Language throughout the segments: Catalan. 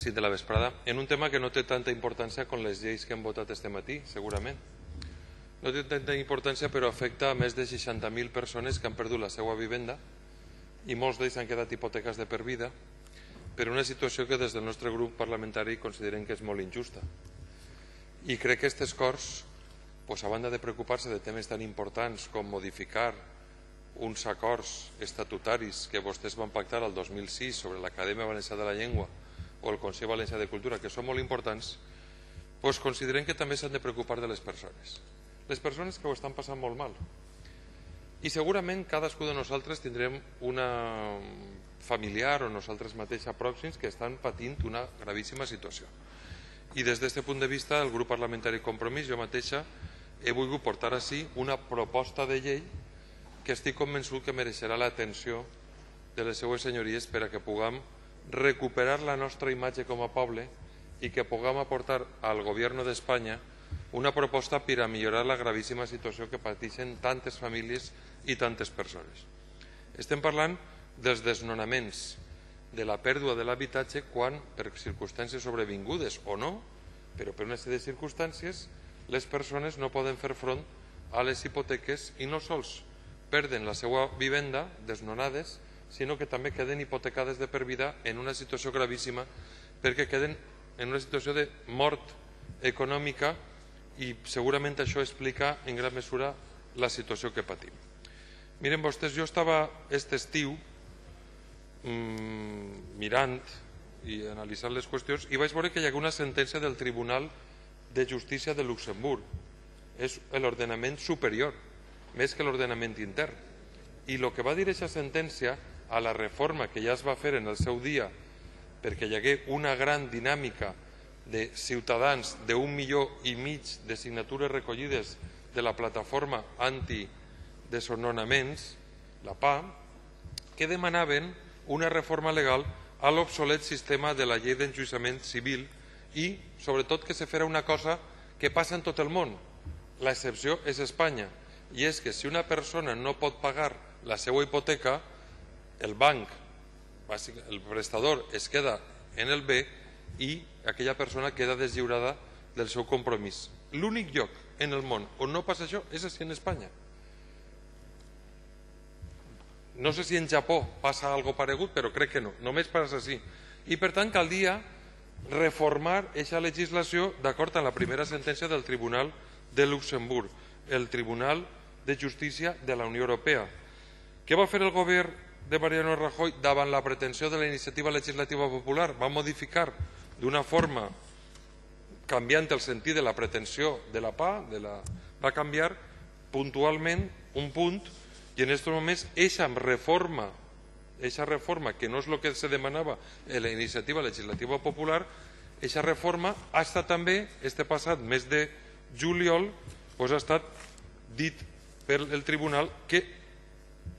Sí, de la vesprada, en un tema que no té tanta importància com les lleis que hem votat este matí, segurament. No té tanta importància, però afecta a més de 60.000 persones que han perdut la seva vivenda i molts d'ells han quedat hipoteques de per vida per una situació que des del nostre grup parlamentari considerem que és molt injusta. I crec que aquestes Corts, a banda de preocupar-se de temes tan importants com modificar uns acords estatutaris que vostès van pactar el 2006 sobre l'Acadèmia Valenciana de la Llengua o el Consell Valencià de Cultura, que són molt importants, considerem que també s'han de preocupar de les persones que ho estan passant molt mal. I segurament cadascú de nosaltres tindrem una familiar o nosaltres mateixos pròxims que estan patint una gravíssima situació. I des d'aquest punt de vista, el grup parlamentari Compromís, jo mateixa, he volgut portar ací una proposta de llei que estic convençut que mereixerà l'atenció de les seues senyories per a que puguem recuperar la nostra imatge com a poble i que puguem aportar al govern d'Espanya una proposta per a millorar la gravíssima situació que pateixen tantes famílies i tantes persones. Estem parlant dels desnonaments, de la pèrdua de l'habitatge quan, per circumstàncies sobrevingudes o no, però per una sèrie de circumstàncies, les persones no poden fer front a les hipoteques i no sols perden la seva vivenda desnonades, sinó que també queden hipotecades de per vida en una situació gravíssima perquè queden en una situació de mort econòmica i segurament això explica en gran mesura la situació que patim. Miren vostès, jo estava aquest estiu mirant i analitzant les qüestions i vaig veure que hi havia una sentència del Tribunal de Justícia de Luxemburg. És l'ordenament superior, més que l'ordenament intern. I el que va dir aquesta sentència a la reforma que ja es va fer en el seu dia perquè hi hagué una gran dinàmica de ciutadans d'1,5 milió de signatures recollides de la plataforma antidesnonaments, la PA, que demanaven una reforma legal a l'obsolet sistema de la llei d'enjudiciament civil i, sobretot, que se fera una cosa que passa en tot el món. L'excepció és Espanya, i és que si una persona no pot pagar la seva hipoteca, el banc, el prestador, es queda en el bé i aquella persona queda deslliurada del seu compromís. L'únic lloc en el món on no passa això és en Espanya. No sé si en Japó passa alguna cosa paregut, però crec que no, només passa així. I per tant caldria reformar aquesta legislació d'acord amb la primera sentència del Tribunal de Luxemburg, el Tribunal de Justícia de la Unió Europea. Què va fer el govern de Mariano Rajoy davant la pretensió de la iniciativa legislativa popular? Va modificar d'una forma canviant el sentit de la pretensió de la PA, va canviar puntualment un punt i en aquests moments aquesta reforma, que no és el que se demanava en la iniciativa legislativa popular, aquesta reforma ha estat també, este passat mes de juliol, ha estat dit per el tribunal que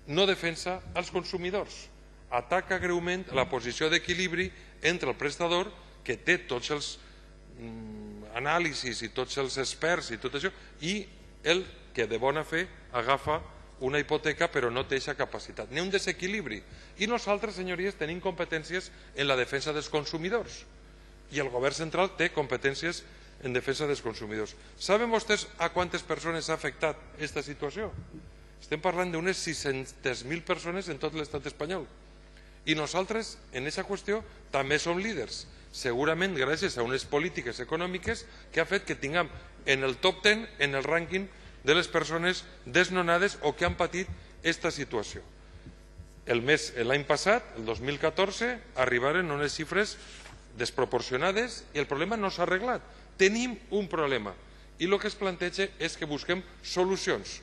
no defensa els consumidors, ataca greument la posició d'equilibri entre el prestador, que té tots els anàlisis i tots els experts i tot això, i el que de bona fe agafa una hipoteca però no té aquesta capacitat. N'hi ha un desequilibri. I nosaltres, senyories, tenim competències en la defensa dels consumidors i el govern central té competències en defensa dels consumidors. Saben vostès a quantes persones ha afectat aquesta situació? Estem parlant d'unes 600.000 persones en tot l'estat espanyol. I nosaltres, en aquesta qüestió, també som líders. Segurament gràcies a unes polítiques econòmiques que ha fet que tinguem en el top 10, en el rànquing de les persones desnonades o que han patit aquesta situació. L'any passat, el 2014, arribaren unes xifres desproporcionades i el problema no s'ha arreglat. Tenim un problema i el que es planteja és que busquem solucions.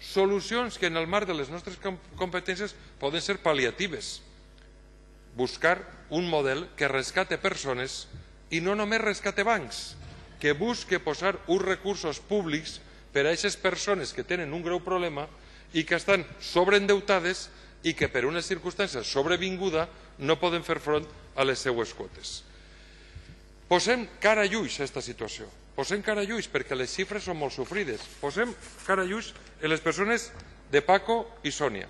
Solucions que en el marc de les nostres competències poden ser pal·liatives. Buscar un model que rescate persones i no només rescate bancs, que busque posar uns recursos públics per a aquestes persones que tenen un greu problema i que estan sobreendeutades i que per unes circumstàncies sobrevinguda no poden fer front a les seues quotes. Posem cara i ulls a aquesta situació. Posem cara i ulls perquè les xifres són molt sofrides. Posem cara i ulls en les persones de Paco i Sònia.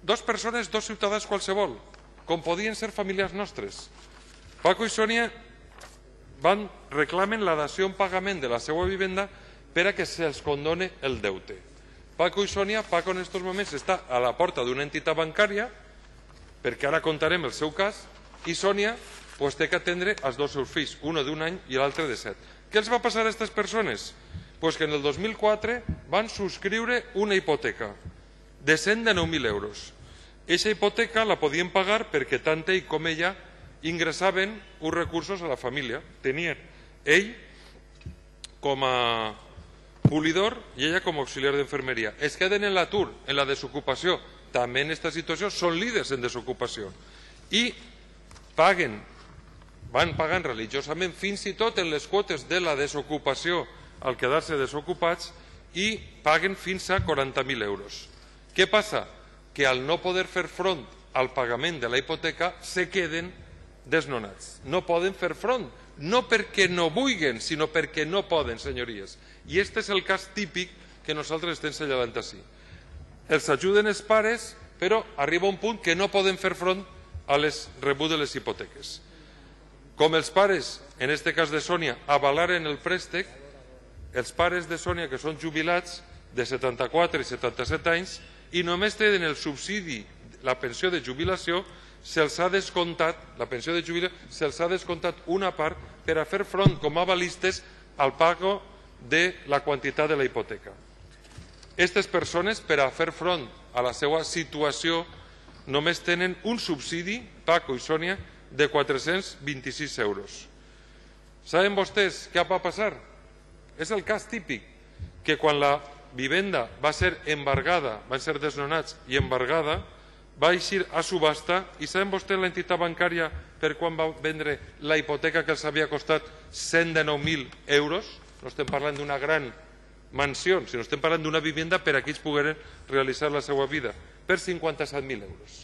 Dos persones, dos ciutadans qualsevol, com podien ser familiars nostres. Paco i Sònia reclamen la dació en pagament de la seva vivenda per a que se'ls condone el deute. Paco i Sònia, Paco en aquests moments està a la porta d'una entitat bancària, perquè ara contarem el seu cas, i Sònia té que atendre els dos seus fills, un d'un any i l'altre de 7. Què els va passar a aquestes persones? Que en el 2004 van subscriure una hipoteca de 119.000 euros. Aquesta hipoteca la podien pagar perquè tant ell com ella ingressaven uns recursos a la família. Tenien ell com a polidor i ella com a auxiliar d'infermeria. Es queden en l'atur, en la desocupació. També en aquesta situació són líders en desocupació. I van pagant religiosament fins i tot en les quotes de la desocupació al quedar-se desocupats i paguen fins a 40.000 euros. Què passa? Que al no poder fer front al pagament de la hipoteca se queden desnonats. No poden fer front, no perquè no vulguin, sinó perquè no poden, senyories. I aquest és el cas típic que nosaltres estem assenyalant ací. Els ajuden els pares, però arriba un punt que no poden fer front a les rebut de les hipoteques. Com els pares, en aquest cas de Sònia, avalaren el préstec, els pares de Sònia, que són jubilats de 74 i 77 anys, i només tenen el subsidi, la pensió de jubilació, se'ls ha descomptat, la pensió de jubilació, se'ls ha descomptat una part per a fer front com a avalistes al pago de la quantitat de la hipoteca. Aquestes persones, per a fer front a la seva situació, només tenen un subsidi, Paco i Sònia, de 426 euros. Saben vostès què va passar? És el cas típic, que quan la vivenda va ser embargada, van ser desnonats i embargada, va eixir a subhasta, i saben vostès l'entitat bancària per quan va vendre la hipoteca que els havia costat 119.000 euros? No estem parlant d'una gran mansió, sinó estem parlant d'una vivenda per a qui ells pogueren realitzar la seva vida, per 57.000 euros.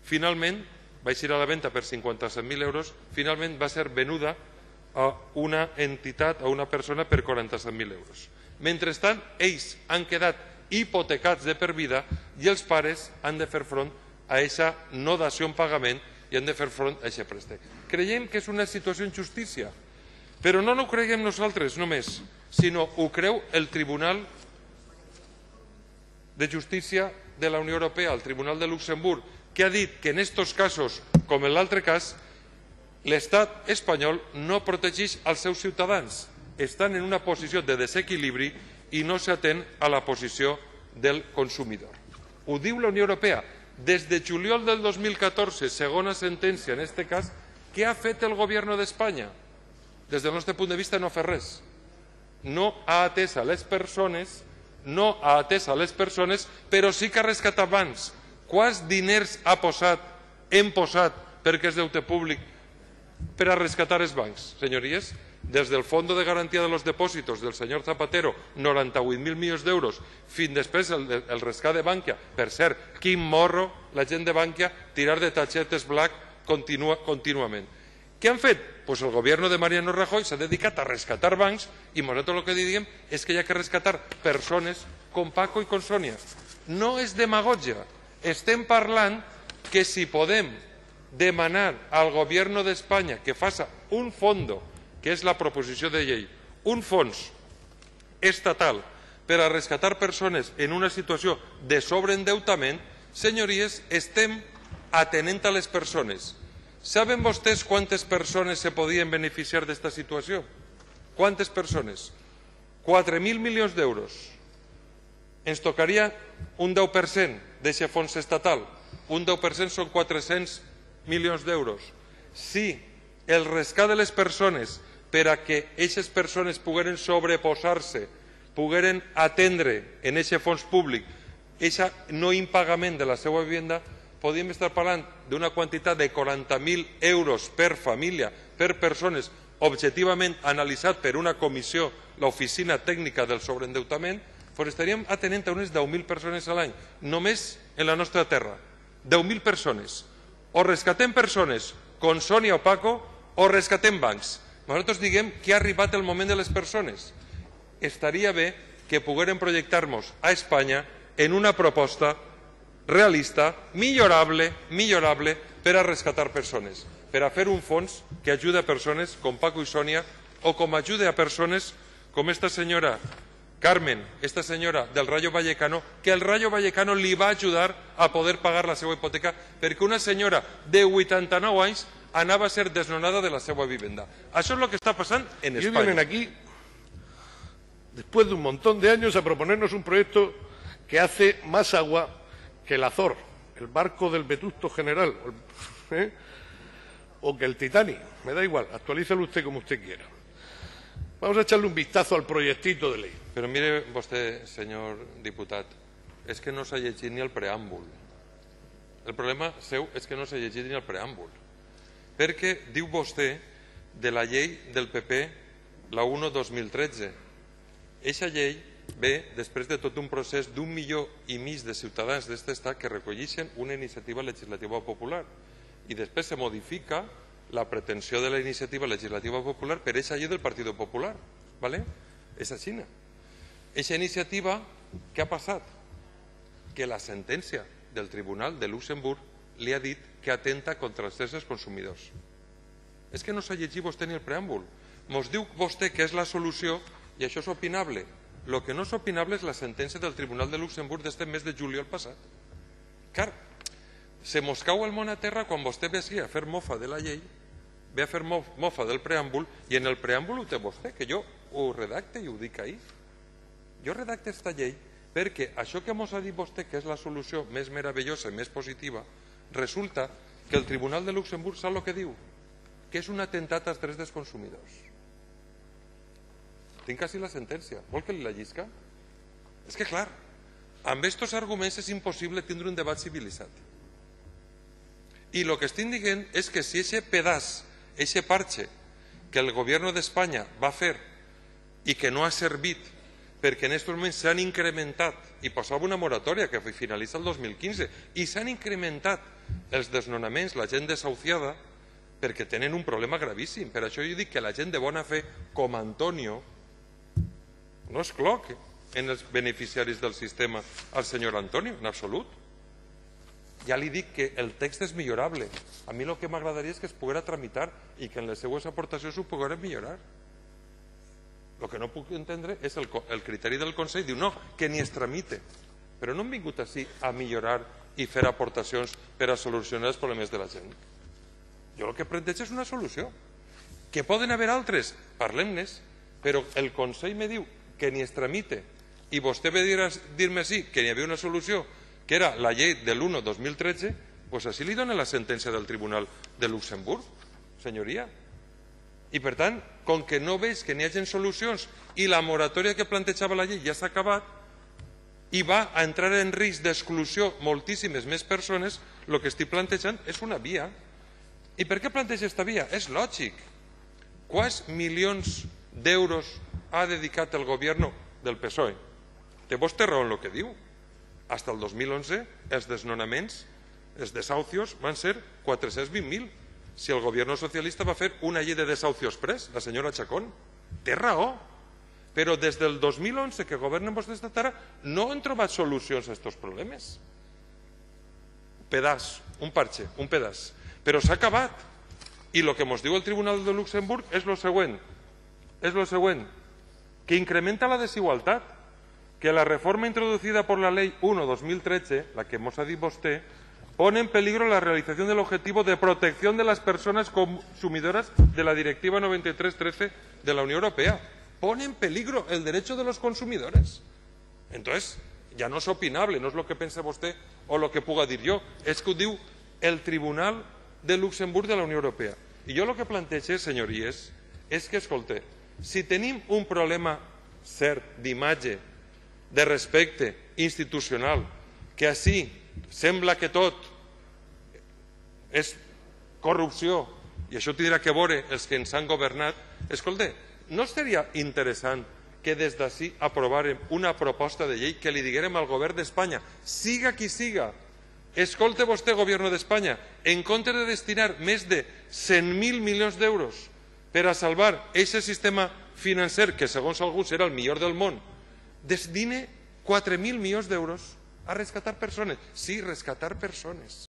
Finalment, va eixir a la venda per 57.000 euros, finalment va ser venuda a una entitat, a una persona, per 47.000 euros. Mentrestant, ells han quedat hipotecats de per vida i els pares han de fer front a aquesta no dació en pagament i han de fer front a aquest préstec. Creiem que és una situació d'injustícia, però no ho creiem nosaltres només, sinó ho creu el Tribunal de Justícia de la Unió Europea, el Tribunal de Luxemburg, que ha dit que en aquests casos, com en l'altre cas, l'estat espanyol no protegeix els seus ciutadans. Estan en una posició de desequilibri i no s'atén a la posició del consumidor. Ho diu la Unió Europea. Des de juliol del 2014, segona sentència en aquest cas, què ha fet el govern d'Espanya? Des del nostre punt de vista no ha fet res. No ha atès a les persones, però sí que ha rescatat bancs. Quants diners hem posat, perquè és deute públic, per a rescatar els bancs, senyories? Des del Fondo de Garantía de los Depósitos del senyor Zapatero, 98.000 milions d'euros, fins després el rescat de Bankia. Per cert, quin morro la gent de Bankia tirar de tachetes black contínuament. Què han fet? Pues el govern de Mariano Rajoy s'ha dedicat a rescatar bancs i nosaltres el que diem és que hi ha que rescatar persones com Paco i com Sònia. No és demagògia. Estem parlant que si podem demanar al govern d'Espanya que faça un fondo, que és la proposició de llei, un fons estatal per a rescatar persones en una situació de sobreendeutament, senyories, estem atenent a les persones. Saben vostès quantes persones se podien beneficiar d'esta situació? Quantes persones? 4.000 milions d'euros. Ens tocaria un 10% d'aquest fons estatal. Un 10% són 400 milions d'euros. Si el rescat de les persones per a que aquestes persones pogueren sobreposar-se, pogueren atendre en aquest fons públic aquest no impagament de la seva vivenda, podríem estar parlant d'una quantitat de 40.000 euros per família, per persones, objectivament analitzat per una comissió, l'Oficina Tècnica del Sobreendeutament, doncs estaríem atenent a unes 10.000 persones a l'any, només en la nostra terra. 10.000 persones. O rescatem persones com Sònia o Paco o rescatem bancs. Nosaltres diguem que ha arribat el moment de les persones. Estaria bé que poguérem projectar-nos a Espanya en una proposta realista, millorable, per a rescatar persones. per a fer un fons que ajuda a persones com Paco i Sònia o com ajuda a persones com esta senyora Carmen, esta senyora del Rayo Vallecano, que el Rayo Vallecano li va ajudar a poder pagar la seva hipoteca perquè una senyora de 89 anys anava a ser desnonada de la seva vivenda. Això és el que està passant en España. Y vienen aquí, después de un montón de años, a proponernos un proyecto que hace más agua que el Azor, el barco del Vetusto General, o que el Titanic. Me da igual, actualízalo usted como usted quiera. Vamos a echarle un vistazo al proyectito de ley. Però mire vostè, senyor diputat, és que no s'ha llegit ni el preàmbul. El problema seu és que no s'ha llegit ni el preàmbul. Perquè diu vostè de la llei del PP, la 1/2013. Eixa llei ve després de tot un procés d'1,5 milió de ciutadans d'aquest estat que recolleixen una iniciativa legislativa popular i després se modifica la pretensió de la iniciativa legislativa popular per eixa llei del Partit Popular. És així. Eixa iniciativa, què ha passat? Que la sentència del Tribunal de Luxemburg li ha dit que atenta contra els drets dels consumidors. És que no s'ha llegit vostè ni el preàmbul. Mos diu vostè que és la solució i això és opinable. El que no és opinable és la sentència del Tribunal de Luxemburg d'este mes de juliol passat. Car, se mos cau el món a terra quan vostè ve així a fer mofa de la llei, ve a fer mofa del preàmbul, i en el preàmbul ho té vostè, que jo ho redacte i ho dic ahir. Jo redacte esta llei perquè això que mos ha dit vostè que és la solució més meravellosa i més positiva, resulta que el Tribunal de Luxemburg sap el que diu? Que és un atemptat als drets dels consumidors. Tinc així la sentència. Vol que li la llisca? És que, clar, amb aquests arguments és impossible tindre un debat civilitzat. I el que estic dient és que si aquest pedaç, aquest parche que el govern d'Espanya va fer i que no ha servit perquè en aquests moments s'han incrementat, i posava una moratòria que finalitza el 2015, i s'han incrementat els desnonaments, la gent desahuciada, perquè tenen un problema gravíssim. Per això jo dic que la gent de bona fe, com Antonio, no excloc en els beneficiaris del sistema al senyor Antonio, en absolut. Ja li dic que el text és millorable. A mi el que m'agradaria és que es poguera tramitar i que en les seues aportacions ho pogueren millorar. El que no puc entendre és el criteri del Consell. Diu, no, que ni es tramite. Però no hem vingut així a millorar i fer aportacions per a solucionar els problemes de la gent. Jo el que plantejo és una solució. Que poden haver altres, parlem-nes, però el Consell me diu que ni es tramite i vostè ve a dir-me sí que hi havia una solució, que era la llei de l'1/2013, doncs així li dona la sentència del Tribunal de Luxemburg, senyoria. I per tant, com que no veig que n'hi hagi solucions i la moratòria que plantejava la llei ja s'ha acabat i va a entrar en risc d'exclusió moltíssimes més persones, el que estic plantejant és una via. I per què planteja aquesta via? És lògic. Quants milions d'euros ha dedicat el govern del PSOE? Té vostè raó en el que diu. Fins al 2011 els desnonaments, els desahucios van ser 420.000. Si el govern socialista va fer una llei de desahucios exprés, la senyora Chacón, té raó. Però des del 2011 que governen vostès ara no han trobat solucions a aquests problemes. Pedaç, un parche, un pedaç. Però s'ha acabat. I el que ens diu el Tribunal de Luxemburg és el següent, que incrementa la desigualtat, que la reforma introducida por la Ley 1/2013, la que ens ha dit vostè, pone en peligro la realización del objetivo de protección de las personas consumidoras de la Directiva 93/13 de la Unión Europea. Pone en peligro el derecho de los consumidores. Entonces, ja no és opinable, no és el que pensa vostè o el que puga dir jo, és que ho diu el Tribunal de Luxemburg de la Unió Europea. I jo el que plantejo, senyories, és que, escolta, si tenim un problema cert d'imatge, de respecte institucional, que així sembla que tot és corrupció, i això tindrà que veure els que ens han governat, escolta, no seria interessant que des d'ací aprovàrem una proposta de llei que li diguérem al govern d'Espanya, siga qui siga, escolta vostè, govern d'Espanya, en comptes de destinar més de 100.000 milions d'euros per a salvar aquest sistema financer, que segons alguns era el millor del món, destine 4.000 milions d'euros a rescatar persones. Sí, rescatar persones.